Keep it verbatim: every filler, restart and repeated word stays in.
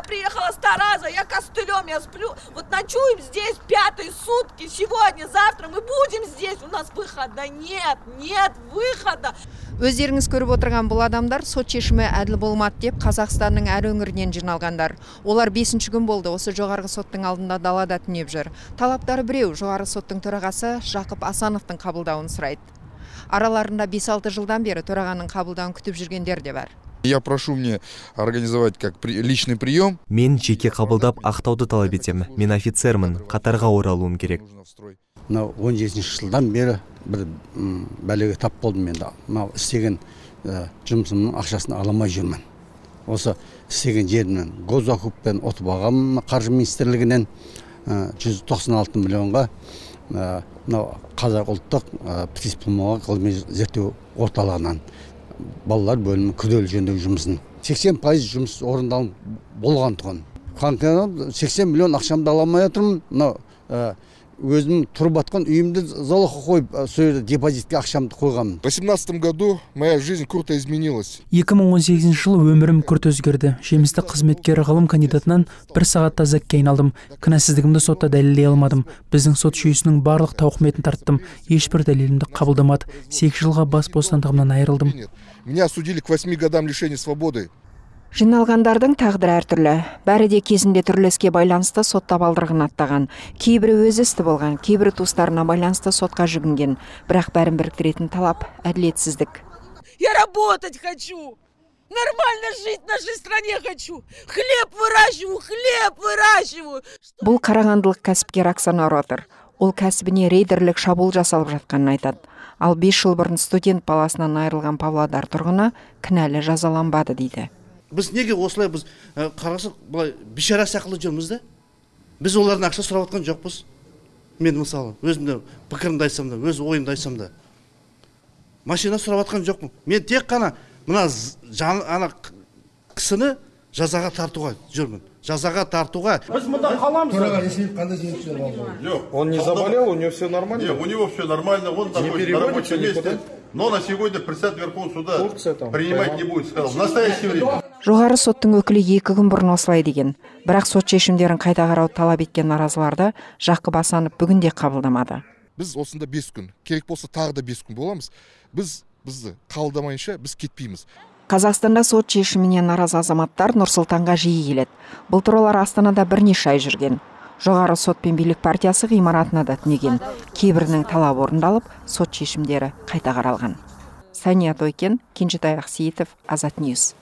я приехала с Тараза, я костылем, я сплю. Вот ночуем здесь пятые сутки. Сегодня, завтра мы будем здесь. У нас выхода нет, нет выхода. Өздеріңіз көріп отырған бұл адамдар сот шешімі әділ болмады деп Қазақстанның әр өңірінен жиналғандар. Олар бесінші күн болды осы жоғарғы соттың алдында далада түнеп жүр. Талаптары біреу, жоғарғы соттың төрағасы Жақып Асановтың қабылдауын сұрайды. Араларында бес алты жылдан бері төрағаның қабылдауын күтіп жүргендер де бар. Я прошу мне организовать как при, личный прием. Мен жеке қабылдап ақтауды талап етемін. Мен офицермін, қатарға оралуым керек. Мынау он жетінші жылдан бері бір бәлеге тап болдым мен. Мынау істеген жұмысымның ақшасын аламай жүрмін. Осы істеген жерімнен госзакуппен ұтып алғанмын қаржы министрлігінен жүз тоқсан алты миллионға мынау Қазақ ұлттық птиспулмолог ғылыми зерттеу орталығынан балалар бөлімі күрделі жөндеу жұмысын. сексен пайыз жұмыс орындалып болған тұғын. Қаңқанып сексен миллион ақшамды аламай отырмын. Мынау өзім тұрып атқан үйімді залогқа қойып, сол депозитке ақшамды қойғанмын. В восемнадцатом году моя жизнь круто изменилась. екі мың он сегізінші жылы өмірім күрт өзгерді. Жемісті қызметкер ғылым кандидатынан бір сағатта зәкке айналдым. Кінәсіздігімді сотта дәлелдей алмадым. Біздің сот жүйесінің барлық тауқыметін тарттым. Ешбір дәлелімді қабылдамады. сегіз жылға бас бостандығымнан айырылдым. Меня осудили к восьми годам лишения свободы. Жиналғандардың тағдыры әртүрлі. Бәрі де кезінде түрлі іске байланысты сот табалдырығын аттаған. Кейбірі өзі істі болған, кейбірі туыстарына байланысты сотқа жүгінген. Бірақ бәрін біріктіретін талап әділетсіздік. Я работать хочу. Нормально жить в нашей стране хочу. Хлеб выращиваю, хлеб выращиваю. Бұл қарағандылық кәсіпкер Оксана Ротер. Ол кәсібіне рейдерлік шабуыл жасалып жатқанын айтады. Ал бес жыл бұрын студент баласынан айырылған Павлодар тұрғыны кінәлі жазаланбады дейді. Біз неге осылай біз қарасақ былай бишара сақылы жүрміз де? Біз олардың ақша сұрап атқан жоқпыз. Мен мысалы өзімді пікірімді айтсам да, өз ойымды айтсам да. Машина сұрап атқан жоқпын. Мен тек қана мына ана кісіні жазаға тартуға жүрмін. Жазаға тартуға. Біз мұнда қаламыз. Он не заболел, у него все нормально? Нет, у него все нормально, он такой на рабочем месте. Но на сегодня председатель Верховного суда принимать не будет, сказал. В настоящее время. Жоғары соттың өкілі екі күн бұрын осылай деген. Бірақ сот шешімдерін қайта қарауды талап еткен наразыларды Жақып Асанов бүгінде қабылдамады. Біз осында бес күн, керек болса тағы да бес күн боламыз. Біз бізді қабылдамайынша біз кетпейміз. Қазақстанда сот шешіміне наразы азаматтар Нұр-Сұлтанға жиі келеді. Бұл туралар Астанада бірнеше ай жүрген. Жоғары сот пен билік партиясы ғимаратына да түнеген. Кейбірінің талабы орындалып, сот шешімдері қайта қаралған. Сания Тойкен, Кенжетай Ақсейітов, Азат Ньюс.